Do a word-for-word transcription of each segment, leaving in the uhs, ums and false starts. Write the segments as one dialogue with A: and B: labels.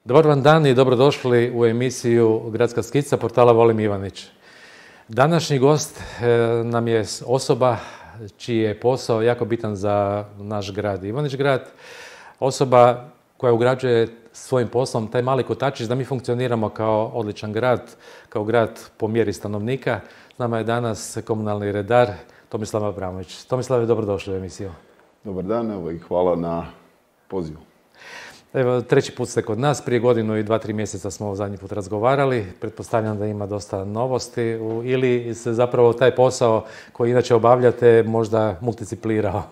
A: Dobar vam dan i dobrodošli u emisiju Gradska skica portala Volim Ivanić. Današnji gost nam je osoba čiji je posao jako bitan za naš grad Ivanić grad. Osoba koja ugrađuje svojim poslom taj mali kotačić da mi funkcioniramo kao odličan grad, kao grad po mjeri stanovnika. S nama je danas komunalni redar Tomislav Abramović. Tomislav, dobrodošli u emisiju.
B: Dobar dan, evo i hvala na pozivu.
A: Evo, treći put ste kod nas, prije godinu i dva, tri mjeseca smo zadnji put razgovarali. Pretpostavljam da ima dosta novosti ili se zapravo taj posao koji inače obavljate možda multiciplirao?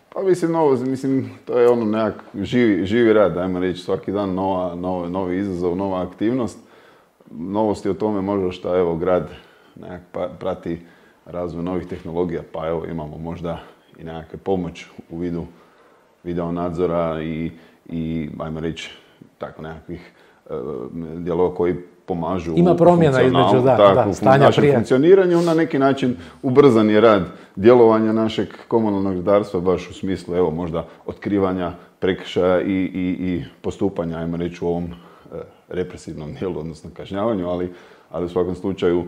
B: Pa mislim, novo, mislim, to je ono nekak živi, živi rad, ajmo reći, svaki dan nova, nova, novi izazov, nova aktivnost. Novosti o tome možda što evo grad nekak prati razvoj novih tehnologija, pa evo imamo možda i nekakve pomoć u vidu video nadzora i i, ajmo reći, tako nekakvih uh, dijelova koji pomažu
A: Ima promjena između da,
B: tako,
A: da, stanja
B: našem
A: prije.
B: funkcioniranju. Na neki način ubrzan je rad djelovanja našeg komunalnog redarstva, baš u smislu, evo, možda otkrivanja prekršaja i, i, i postupanja, ajmo reći, u ovom uh, represivnom dijelu, odnosno kažnjavanju, ali, ali u svakom slučaju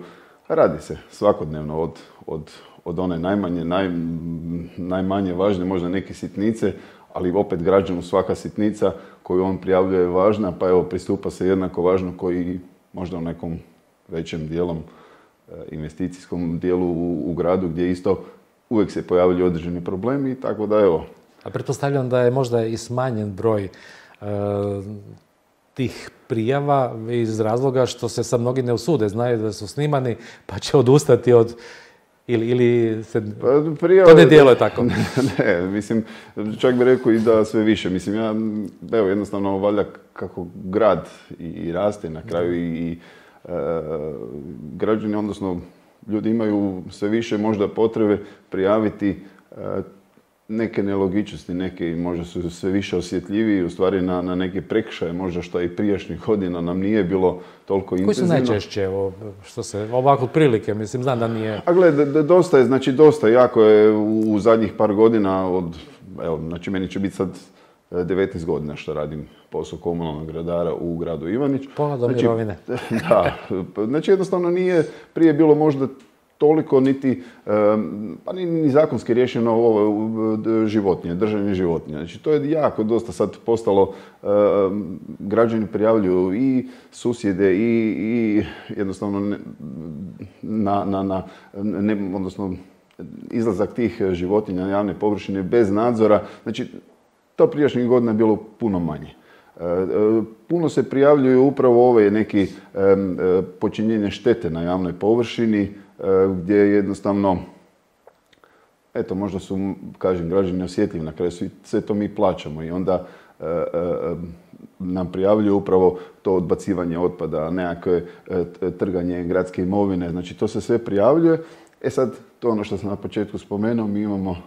B: radi se svakodnevno od, od, od one najmanje, naj, najmanje važne, možda neke sitnice, ali opet građanu svaka sitnica koju on prijavljuje je važna, pa evo pristupa se jednako važno koji možda u nekom većem dijelom investicijskom dijelu u, u gradu gdje isto uvijek se pojavljaju određeni problemi, tako da evo.
A: A pretpostavljam da je možda i smanjen broj e, tih prijava iz razloga što se sad mnogi ne usude, znaju da su snimani pa će odustati od Ili, ili se...
B: Pa, prijave,
A: to ne djeluje tako?
B: Ne, mislim, čak bih rekao i da sve više. Mislim, ja, evo, jednostavno, valjda kako grad i, i raste na kraju i, i e, građani, odnosno ljudi imaju sve više možda potrebe prijaviti e, neke nelogičnosti, neke možda su sve više osjetljiviji u stvari na, na neke prekršaje, možda što i prijašnjih godina nam nije bilo toliko intenzivno.
A: Koji su najčešće, ovo, što se, ovako prilike, mislim, znam da nije...
B: A gled, dosta je, znači dosta, jako je u, u zadnjih par godina od, evo, znači meni će biti sad devetnaest godina što radim posao komunalnog redara u gradu Ivanić.
A: Pola do
B: znači,
A: mirovine.
B: Da, znači jednostavno nije prije bilo možda toliko niti, pa ni, ni zakonski riješeno ovo životinje, držanje životinja. Znači to je jako dosta sad postalo, građani prijavljuju i susjede i, i jednostavno ne, na, na, na ne, odnosno izlazak tih životinja na javne površine bez nadzora. Znači to prijašnjih godina je bilo puno manje. Puno se prijavljuju upravo ove neki počinjenje štete na javnoj površini, gdje jednostavno, eto, možda su, kažem, građani osjetljivi, na kraju sve to mi plaćamo i onda e, e, nam prijavljuju upravo to odbacivanje otpada, nekakve e, trganje gradske imovine, znači to se sve prijavljuje. E sad, to je ono što sam na početku spomenuo, mi imamo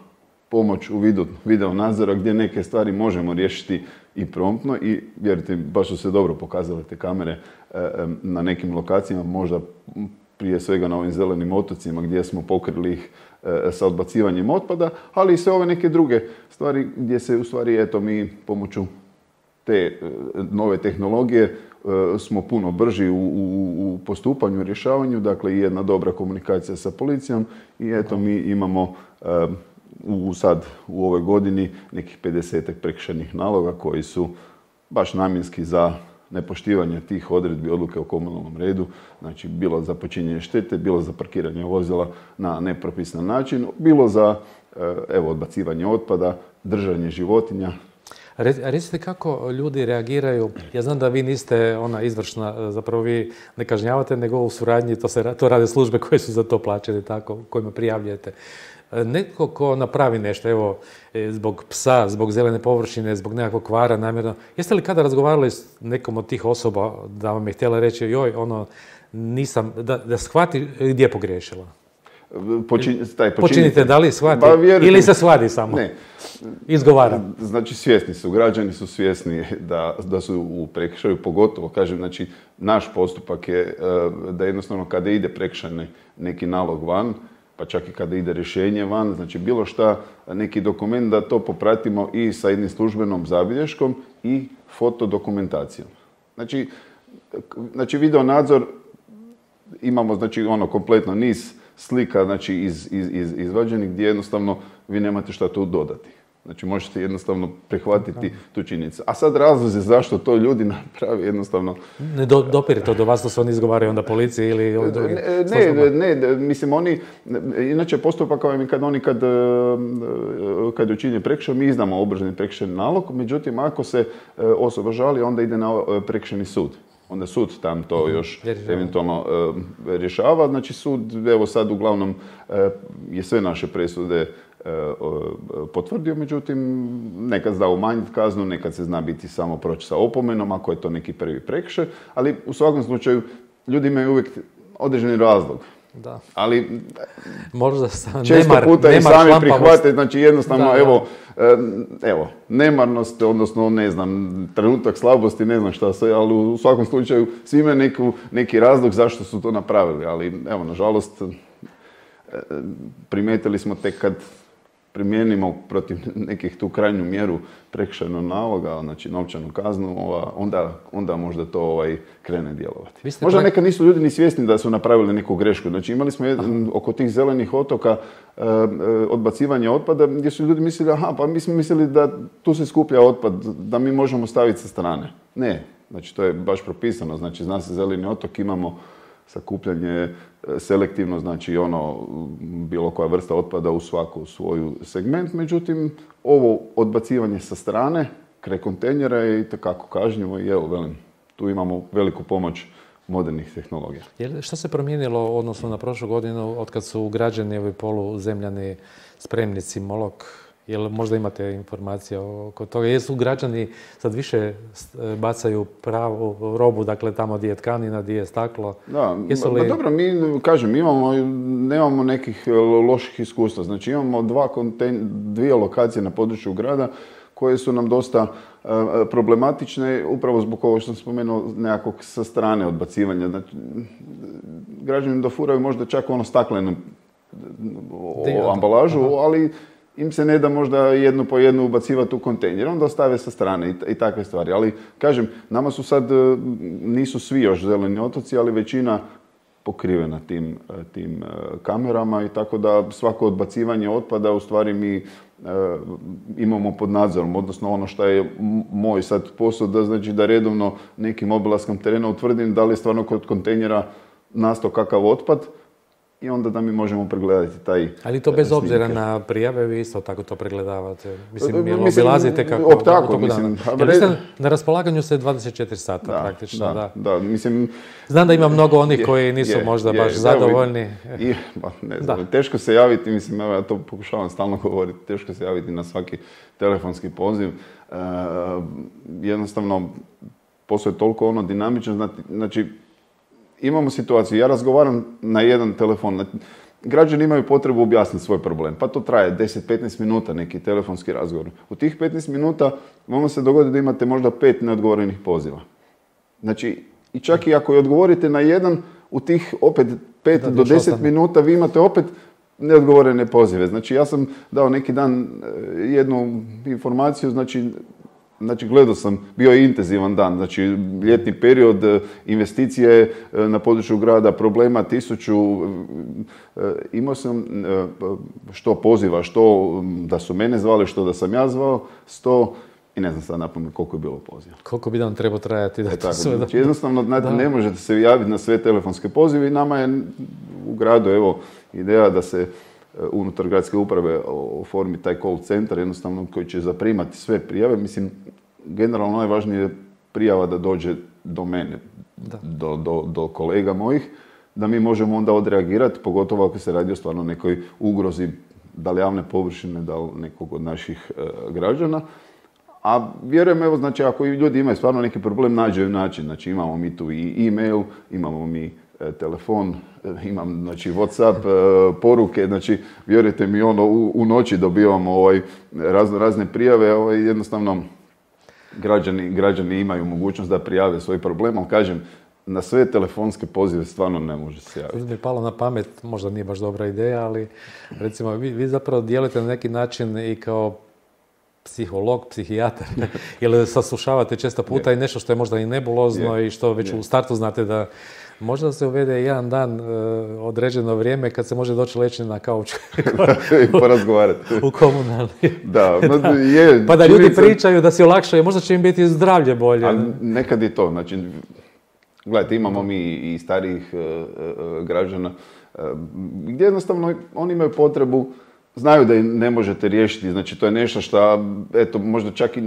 B: pomoć u vidu video nadzora gdje neke stvari možemo riješiti i promptno i vjerujte, baš su se dobro pokazale te kamere e, e, na nekim lokacijama, možda prije svega na ovim zelenim otocima gdje smo pokrili ih e, sa odbacivanjem otpada, ali i sve ove neke druge stvari gdje se u stvari, eto, mi pomoću te e, nove tehnologije e, smo puno brži u, u, u postupanju i rješavanju, dakle i jedna dobra komunikacija sa policijom i eto mi imamo e, u, sad u ovoj godini nekih pedesetak prekršajnih naloga koji su baš namjenski za nepoštivanje tih odredbi odluke o komunalnom redu, znači bilo za počinjenje štete, bilo za parkiranje vozila na nepropisan način, bilo za evo, odbacivanje otpada, držanje životinja.
A: Recite kako ljudi reagiraju, ja znam da vi niste ona izvršna, zapravo vi ne kažnjavate, nego u suradnji to, se, to rade službe koje su za to plaćene, tako, kojima prijavljujete. Netko ko napravi nešto, evo, zbog psa, zbog zelene površine, zbog nekakvog kvara namjerno, jeste li kada razgovarali s nekom od tih osoba da vam je htjela reći, joj, ono, nisam, da, da shvati gdje je pogriješila?
B: počin, taj počinitelj.
A: Počinite, da li shvati?
B: Ba, vjerujte,
A: ili se svadi samo?
B: Ne.
A: Izgovara.
B: Znači svjesni su, građani su svjesni da, da su u prekršaju, pogotovo, kažem, znači naš postupak je da jednostavno kada ide prekršajni neki nalog van, pa čak i kada ide rješenje van, znači bilo šta, neki dokument, da to popratimo i sa jednim službenom zabilješkom i fotodokumentacijom. Znači, znači video nadzor imamo, znači ono kompletno niz slika, znači iz, iz, iz, izvađenih gdje jednostavno vi nemate šta tu dodati. Znači možete jednostavno prihvatiti da. tu činjenicu. A sad razlozi zašto to ljudi napravi jednostavno... Ne
A: do, dopire to do vas, to se oni izgovaraju onda policiji ili ovih drugih?
B: Ne, ne, ne, mislim oni, inače postupak kao i kad oni kad, kad je učinjen prekršaj, mi izdamo obrazovni prekršajni nalog, međutim ako se osoba žali, onda ide na prekršajni sud. Onda sud tam to još eventualno e, rješava. Znači sud, evo sad uglavnom e, je sve naše presude e, e, potvrdio, međutim nekad zna umanjiti kaznu, nekad se zna biti samo proći sa opomenom, ako je to neki prvi prekršaj, ali u svakom slučaju ljudi imaju uvijek određeni razlog.
A: Da.
B: Ali
A: možda
B: često
A: nemar,
B: puta
A: nemar
B: i sami
A: šlampavost.
B: prihvate, znači jednostavno,
A: da,
B: evo, da. evo, nemarnost, odnosno, ne znam, trenutak slabosti, ne znam šta sve, ali u svakom slučaju svi imaju neku, neki razlog zašto su to napravili, ali evo, nažalost, primijetili smo tek kad primijenimo protiv nekih tu krajnju mjeru prekršajnog naloga, znači novčanu kaznu, ova, onda, onda možda to ovaj, krene djelovati. Možda prak... nekad nisu ljudi ni svjesni da su napravili neku grešku. Znači imali smo jedan, oko tih zelenih otoka e, odbacivanje otpada gdje su ljudi mislili, aha, pa mi smo mislili da tu se skuplja otpad, da mi možemo staviti sa strane. Ne, znači to je baš propisano, znači zna se zeleni otok, imamo sakupljanje selektivno, znači ono, bilo koja vrsta otpada u svaku svoju segment, međutim, ovo odbacivanje sa strane, kraj kontejnera je itekako kažnjivo i evo, velim, tu imamo veliku pomoć modernih tehnologija.
A: Je, što se promijenilo odnosno na prošlu godinu od kad su ugrađeni ovi poluzemljani spremnici Molok? Jel možda imate informacije oko toga? Jesu građani sad više bacaju pravu robu, dakle tamo gdje je tkanina, gdje je staklo?
B: Da,
A: Jesu li...
B: ba, dobro, mi, kažem, imamo, nemamo nekih loših iskustva. Znači imamo dva kontejn, dvije lokacije na području grada koje su nam dosta uh, problematične, upravo zbog ovo što sam spomenuo, nekakvog sa strane odbacivanja. Znači, građani dofuraju možda čak ono staklenu ambalažu, aha, ali im se ne da možda jednu po jednu ubacivati u kontejner, onda ostave sa strane i, i takve stvari. Ali, kažem, nama su sad, nisu svi još zeleni otoci, ali većina pokrivena tim, tim kamerama i tako da svako odbacivanje otpada u stvari mi e, imamo pod nadzorom. Odnosno ono što je moj sad posao, da znači da redovno nekim obilaskom terena utvrdim da li je stvarno kod kontejnera nastao kakav otpad, i onda da mi možemo pregledati taj...
A: Ali to bez snimke. Obzira na prijave, vi isto tako to pregledavate? Mislim, jel
B: mislim,
A: obilazite kako...
B: Op, tako, mislim...
A: Jel vi ste na raspolaganju se dvadeset četiri sata
B: da,
A: praktično,
B: da,
A: da.
B: da, mislim...
A: Znam da ima mnogo onih je, koji nisu je, možda je, baš je, zadovoljni.
B: I, ba, ne znam, da. Teško se javiti, mislim, ja to pokušavam stalno govoriti, teško se javiti na svaki telefonski poziv. E, jednostavno, postoje toliko ono dinamično, znači, imamo situaciju, ja razgovaram na jedan telefon, građani imaju potrebu objasniti svoj problem, pa to traje deset do petnaest minuta neki telefonski razgovor. U tih petnaest minuta vama se dogodi da imate možda pet neodgovorenih poziva. Znači, i čak i ako odgovorite na jedan, u tih opet pet do deset minuta vi imate opet neodgovorene pozive. Znači, ja sam dao neki dan jednu informaciju, znači, Znači, gledao sam, bio je intenzivan dan, znači ljetni period, investicije na području grada, problema tisuću, imao sam što poziva, što da su mene zvali, što da sam ja zvao, sto i ne znam sad napamet koliko je bilo poziva.
A: Koliko bi nam trebao trajati da
B: e,
A: to
B: tako,
A: sve...
B: Znači, jednostavno, znate, ne možete se javiti na sve telefonske pozive i nama je u gradu, evo, ideja da se unutar gradske uprave oformi taj call centar, jednostavno koji će zaprimati sve prijave. Mislim, generalno najvažnije je prijava da dođe do mene, do, do, do kolega mojih, da mi možemo onda odreagirati, pogotovo ako se radi o stvarno nekoj ugrozi, da li javne površine, da li nekog od naših e, građana. A vjerujem, evo, znači, ako ljudi imaju stvarno neki problem, nađu način. Znači, imamo mi tu i e-mail, imamo mi telefon, imam znači Whatsapp, poruke, znači vjerujte mi ono u, u noći dobivamo ovaj, razno razne prijave, ovaj, jednostavno građani, građani imaju mogućnost da prijave svoj problem, ali kažem, na sve telefonske pozive stvarno ne može se javiti.
A: Mi je palo na pamet, možda nije baš dobra ideja, ali recimo vi, vi zapravo djelujete na neki način i kao psiholog, psihijatar, ili saslušavate često puta yeah. i nešto što je možda i nebulozno yeah. i što već yeah. u startu znate da možda se uvede jedan dan uh, određeno vrijeme kad se može doći leći na kauč
B: i porazgovarati.
A: U komunalni.
B: Da, je,
A: pa da ljudi činjenica... pričaju, da si olakšaju, možda će im biti zdravlje bolje.
B: A nekad je to, znači, gledajte, imamo mi i starijih uh, uh, građana uh, gdje jednostavno oni imaju potrebu, znaju da im ne možete riješiti, znači to je nešto što, eto, možda čak i,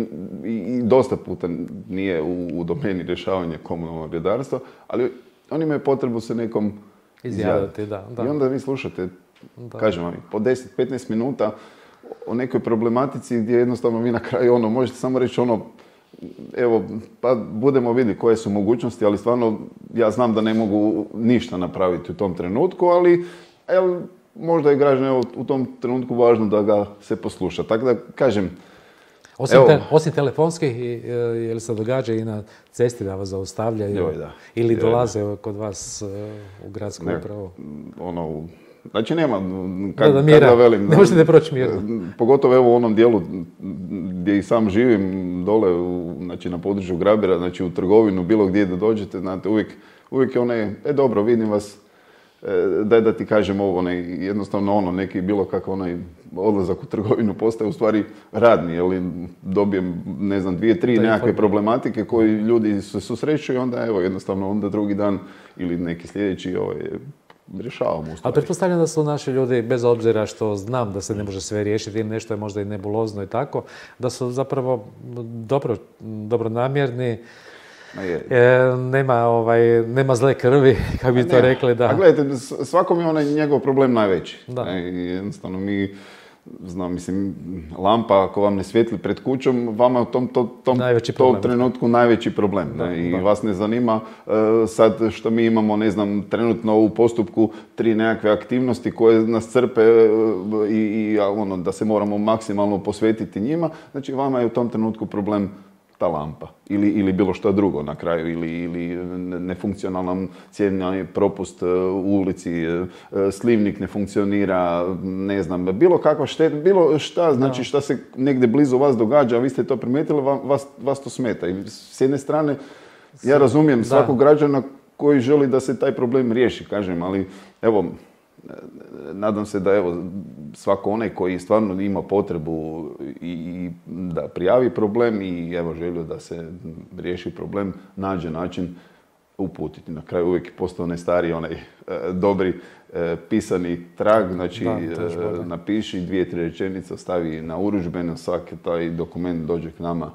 B: i, i dosta puta nije u, u domeni rješavanja komunalnog redarstva, ali oni imaju potrebu se nekom izjaviti.
A: Da, da.
B: I onda vi slušate, da. kažem vam, po deset do petnaest minuta o nekoj problematici gdje jednostavno vi na kraju ono, možete samo reći ono, evo, pa budemo vidjeti koje su mogućnosti, ali stvarno ja znam da ne mogu ništa napraviti u tom trenutku, ali evo, možda je građan u tom trenutku važno da ga se posluša. Tako da, kažem,
A: Osim, te, osim telefonskih, je li se događa i na cesti da vas zaustavljaju?
B: Joj, da.
A: Ili
B: Joj,
A: dolaze
B: da.
A: kod vas u gradsku
B: ne,
A: upravu?
B: Ono, znači nema, kak,
A: da, da, mira,
B: da velim,
A: ne možete proći mirno.
B: Pogotovo evo u onom dijelu gdje i sam živim, dole u, znači, na području Grabira, znači u trgovinu, bilo gdje da dođete, znate, uvijek, uvijek je onaj, e dobro, vidim vas, daj da ti kažem ovo, onaj, jednostavno ono, neki bilo kakav onaj odlazak u trgovinu postaje u stvari radni, jer dobijem, ne znam, dvije, tri nekakve problematike koji ljudi se susreću i onda evo, jednostavno onda drugi dan ili neki sljedeći ovaj, rješavamo u stvari.
A: Ali pretpostavljam da su naši ljudi, bez obzira što znam da se ne može sve riješiti ili nešto je možda i nebulozno i tako, da su zapravo dobro, dobronamjerni. E, nema, ovaj, nema zle krvi, kako bi to rekli. Da.
B: A gledajte, svakom je onaj njegov problem najveći. Da. E, jednostavno mi, znam, mislim, lampa ako vam ne svijetli pred kućom, vama je u tom, to, tom, tom trenutku najveći problem. Da, ne? I da. Vas ne zanima uh, sad što mi imamo, ne znam, trenutno u postupku tri nekakve aktivnosti koje nas crpe uh, i, i ono, da se moramo maksimalno posvetiti njima. Znači, vama je u tom trenutku problem ta lampa ili, ili bilo što drugo na kraju ili, ili nefunkcionalan cijenjeni propust u ulici, slivnik ne funkcionira, ne znam, bilo kakva šteta, bilo šta, znači šta se negdje blizu vas događa, a vi ste to primijetili, vas, vas to smeta. I s jedne strane, ja razumijem da. svakog građana koji želi da se taj problem riješi, kažem, ali evo, nadam se da evo, svako onaj koji stvarno ima potrebu i, i da prijavi problem i evo želju da se riješi problem, nađe način uputiti. Na kraju uvijek postao onaj stari, onaj e, dobri e, pisani trag, znači da, e, napiši dvije, tri rečenice, ostavi na urudžbeno, svaki taj dokument dođe k nama,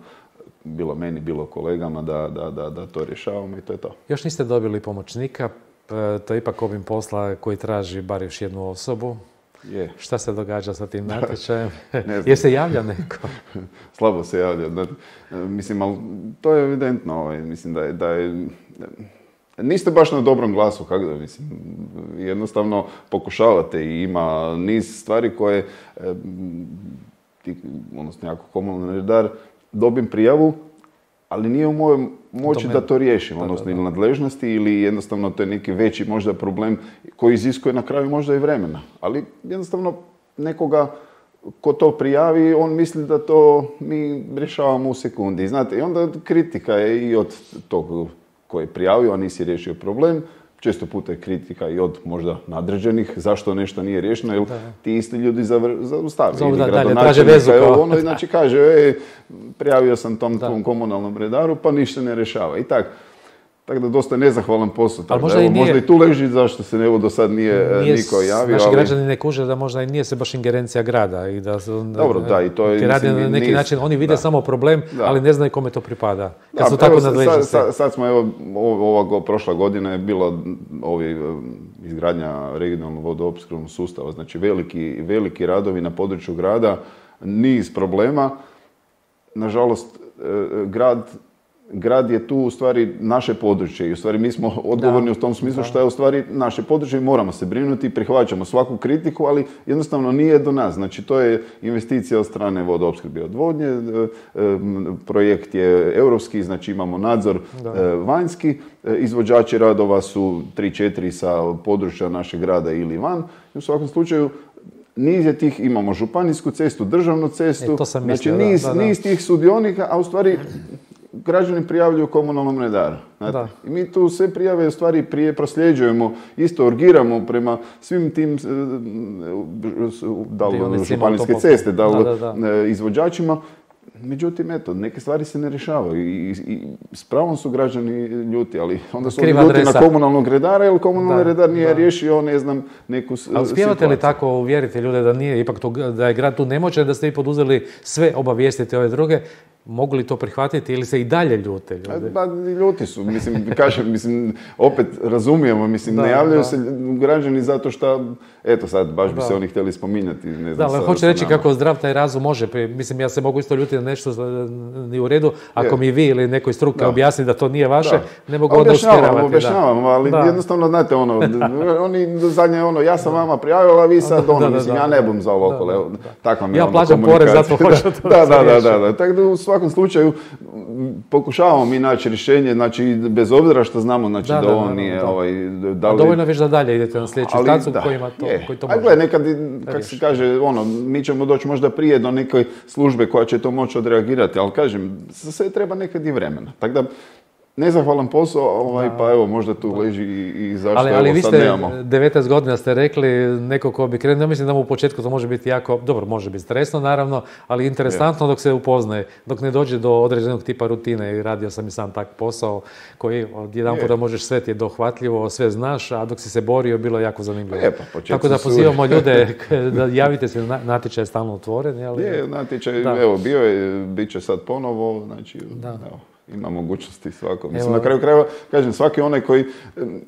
B: bilo meni, bilo kolegama, da, da, da, da to rješavamo i to je to.
A: Još niste dobili pomoćnika, to je ipak obim posla koji traži bar još jednu osobu.
B: Je.
A: Šta se događa sa tim natječajem? Jer se javlja neko?
B: Slabo se javlja. Da, mislim, ali to je evidentno. Ovaj, mislim da je, da je... Niste baš na dobrom glasu, kako da mislim. Jednostavno pokušavate i ima niz stvari koje, ti, odnosno jako komunalni redar, dobim prijavu, ali nije u mojoj moći da to riješim, da, odnosno da, da. ili nadležnosti ili jednostavno to je neki veći možda problem koji iziskuje na kraju možda i vremena. Ali jednostavno nekoga ko to prijavi, on misli da to mi rješavamo u sekundi. Znate, i onda kritika je i od tog koji je prijavio, a nisi riješio problem. Često puta je kritika i od možda nadređenih, zašto nešto nije riješeno, jer da. ti isti ljudi zaustavi.
A: Ili gradonačelnika,
B: evo ono, znači kaže, e, prijavio sam tom, tom komunalnom redaru, pa ništa ne rješava. I tak. Tako da dosta nezahvalan posao. Tako možda, da, evo, i nije, možda i tu leži zašto se evo do sad nije, nije niko javio.
A: Naši
B: ali...
A: građani ne kuže da možda i nije se baš ingerencija grada. I da,
B: Dobro, da, i to je...
A: Radi na neki niz, način, oni vide da. samo problem, da. ali ne znaju kome to pripada. Kad
B: da,
A: su tako nadležni.
B: Sad, sad, sad smo, evo, ova prošla godina je bila ovi, izgradnja regionalnog vodoopskrbnog sustava. Znači veliki, veliki radovi na području grada, niz problema. Nažalost, grad grad je tu u stvari naše područje i u stvari mi smo odgovorni
A: Da.
B: u tom smislu
A: Da.
B: što je u stvari naše područje i moramo se brinuti, prihvaćamo svaku kritiku, ali jednostavno nije do nas. Znači to je investicija od strane vodoopskrbe i odvodnje, e, e, projekt je europski, znači imamo nadzor
A: Da.
B: e, vanjski, e, izvođači radova su tri četiri sa područja našeg grada ili van. I u svakom slučaju niz je tih, imamo županijsku cestu, državnu cestu,
A: E, to sam
B: znači
A: mislio, da,
B: niz,
A: da, da.
B: niz tih sudionika, a u stvari građani prijavljuju komunalnom redaru. znate.
A: Da.
B: I mi tu sve prijave u stvari prije prosljeđujemo, isto urgiramo prema svim tim, e, da li
A: Dionicima
B: županijske
A: autoputeva.
B: ceste, da li
A: Da, da, da.
B: e, izvođačima. Međutim, eto, neke stvari se ne rješavaju i, i, i s pravom su građani ljuti, ali onda su oni
A: Kriva
B: ljuti
A: adresa.
B: na komunalnog redara, jer komunalni
A: Da,
B: redar nije
A: da.
B: riješio, ne znam, neku s-
A: A uspijevate li
B: situaciju.
A: tako uvjeriti ljude da nije ipak to, da je grad tu nemoćan, da ste vi poduzeli sve obavijestiti ove druge? Mogu li to prihvatiti ili se i dalje ljute ljudi?
B: Pa ljuti su, mislim, kažem, mislim, opet razumijemo, mislim,
A: Da,
B: ne javljaju
A: da.
B: se građani zato što, eto sad, baš bi
A: Da.
B: se oni htjeli spominjati, ne
A: Da,
B: znam,
A: ali
B: sa-
A: hoću
B: sa
A: reći
B: nama.
A: kako zdrav taj razum može. pri- Mislim, ja se mogu isto ljutiti na nešto što nije u redu. Ako
B: Je.
A: mi vi ili neko iz struke
B: Da.
A: objasni da to nije vaše,
B: Da.
A: ne mogu onda
B: Objašnjavam,
A: uspjeravati.
B: objašnjavam, ali
A: Da.
B: jednostavno, znate, ono, oni zadnje ono, ja sam vama prijavila, a vi sad,
A: Da,
B: ono,
A: da,
B: mislim,
A: da,
B: ja
A: da.
B: ne bum za ovo
A: Da,
B: okolo,
A: da,
B: evo,
A: da.
B: takva mi je
A: Ja
B: onda
A: plaćam porez zato
B: komunikacija.
A: hoću to
B: Da,
A: da se
B: da, da,
A: riješi.
B: da, da. Tako da u svakom slučaju m, pokušavamo mi naći rješenje, znači, bez obzira što znamo, znači,
A: Da,
B: da,
A: da,
B: ovo
A: da,
B: nije,
A: da.
B: ovaj, da
A: A
B: li...
A: dovoljno već da dalje idete na sljedeću
B: Ali
A: stancu
B: da,
A: koji, ima to,
B: je.
A: koji to
B: A
A: može.
B: gle, nekad, kak
A: riješi.
B: se kaže, ono, mi ćemo doći možda prije do neke službe koja će to moći odreagirati, ali kažem, za sve treba nekad i vremena. Tako da, nezahvalan posao, ovaj, pa evo, možda tu leži i, i zašto
A: Ali, ali
B: evo
A: vi
B: sad
A: ste
B: nemamo.
A: devetnaest godina ste rekli, neko ko bi krenuo, ja mislim da mu u početku to može biti jako, dobro, može biti stresno naravno, ali interesantno dok se upoznaje, dok ne dođe do određenog tipa rutine i radio sam i sam tak posao koji od jedan
B: Je.
A: puta možeš sve ti je dohvatljivo, sve znaš, a dok si se borio bilo je jako zanimljivo.
B: Pa je, pa početci
A: Tako da
B: su-
A: pozivamo ljude k- da javite se, na- natječaj je stalno otvoren. Ali,
B: Je, natječaj,
A: Da.
B: evo, bio je, bit će sad ponovo, znači,
A: Da.
B: evo, ima mogućnosti svako. Mislim,
A: Evo.
B: na kraju krajeva, kažem, svaki onaj koji, em,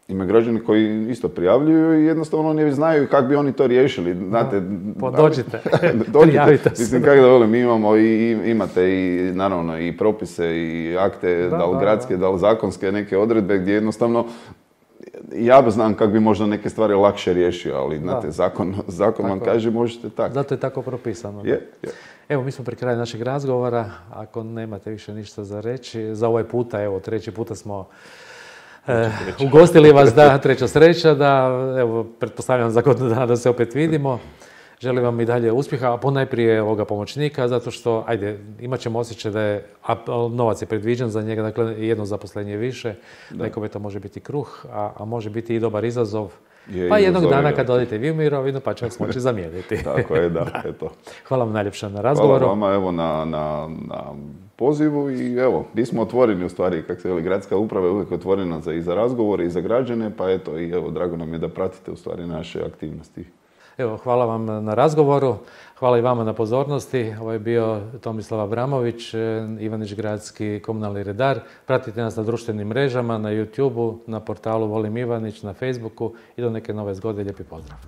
B: ima građani koji isto prijavljuju i jednostavno oni znaju kako bi oni to riješili, znate.
A: Pa
B: ali-
A: dođite,
B: dođite.
A: prijavite se.
B: Mislim, kako da volim, mi imamo i, i- imate i, naravno, i propise i akte,
A: Da,
B: da, li
A: da,
B: gradske, da li zakonske neke odredbe gdje jednostavno ja znam kako bi možda neke stvari lakše riješio, ali znate, zakon, zakon vam
A: Tako je.
B: kaže možete tako.
A: Zato je tako propisano.
B: Je, je.
A: Evo, mi smo pri kraju našeg razgovora. Ako nemate više ništa za reći, za ovaj puta, evo, treći puta smo e, ugostili vas, da, treća sreća, da, evo, pretpostavljam za godinu dana da se opet vidimo. Želim vam i dalje uspjeha, a ponajprije ovoga pomoćnika, zato što, ajde, imat ćemo osjećaj da je, a novac je predviđen za njega, dakle, jedno zaposlenje više, nekome to može biti kruh, a, a može biti i dobar izazov.
B: Je,
A: Pa jednog
B: izazov je
A: dana kad
B: veliki.
A: odete vi u mirovinu, pa će vas moći zamijeniti.
B: Tako je, da, eto.
A: Hvala vam najljepša na
B: Hvala
A: razgovoru.
B: vama, evo, na, na, na pozivu i evo, mi smo otvoreni u stvari, kako se veli, gradska uprava je uvijek otvorena za, i za razgovore i za građane, pa eto, i evo, drago nam je da pratite u stvari naše aktivnosti.
A: Evo, hvala vam na razgovoru, hvala i vama na pozornosti. Ovo je bio Tomislav Abramović, eh, Ivanić gradski komunalni redar. Pratite nas na društvenim mrežama, na YouTubeu, na portalu Volim Ivanić, na Facebooku i do neke nove zgode. Lijepi pozdrav.